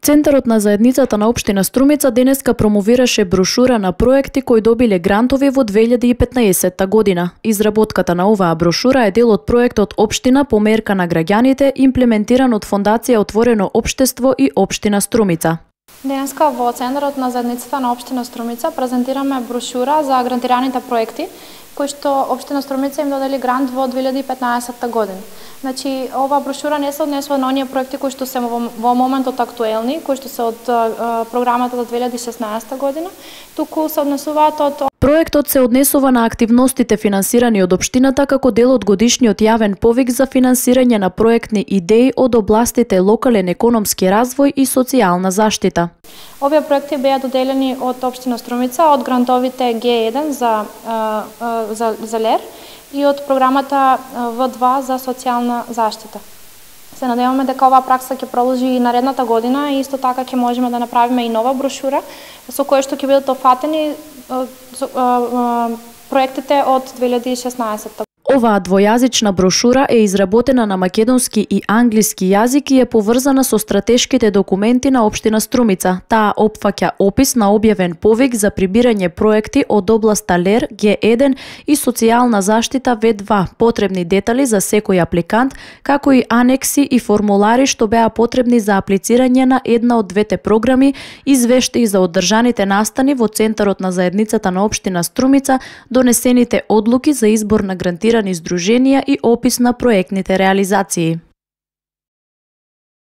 Центарот на заедницата на општина Струмица денеска промовираше брошура на проекти кои добиле грантови во 2015 година. Изработката на оваа брошура е дел од проектот Општина померка на граѓаните, имплементиран од Фондација Отворено општество и Општина Струмица. Денеска во Центарот на заедницата на општина Струмица презентираме брошура за грантираните проекти кои што општина Струмица им додели грант во 2015 година. Значи, ова брошура не се однесува на оние проекти кои што се во моментот актуелни, кои што се од програмата за 2016 година, туку се однесуваат од... Проектот се однесува на активностите финансирани од општината како дел од годишниот јавен повик за финансирање на проектни идеи од областите локален економски развој и социјална заштита. Овие проекти беа доделени од општина Струмица од грантовите Г1 за ЛЕР и од програмата В2 за социјална заштита. Се надеваме дека оваа пракса ќе продолжи и наредната година и исто така ќе можеме да направиме и нова брошура со која што ќе бидат офатени проектите од 2016. Оваа двојазична брошура е изработена на македонски и англиски јазик и е поврзана со стратешките документи на општина Струмица. Таа опфаќа опис на објавен повик за прибирање проекти од областа ЛЕР, Г1 и социјална заштита В2, потребни детали за секој апликант, како и анекси и формулари што беа потребни за аплицирање на една од двете програми, извештаи за одржаните настани во Центарот на заедницата на општина Струмица, донесените одлуки за избор на грантирани издруженија и опис на проектните реализации.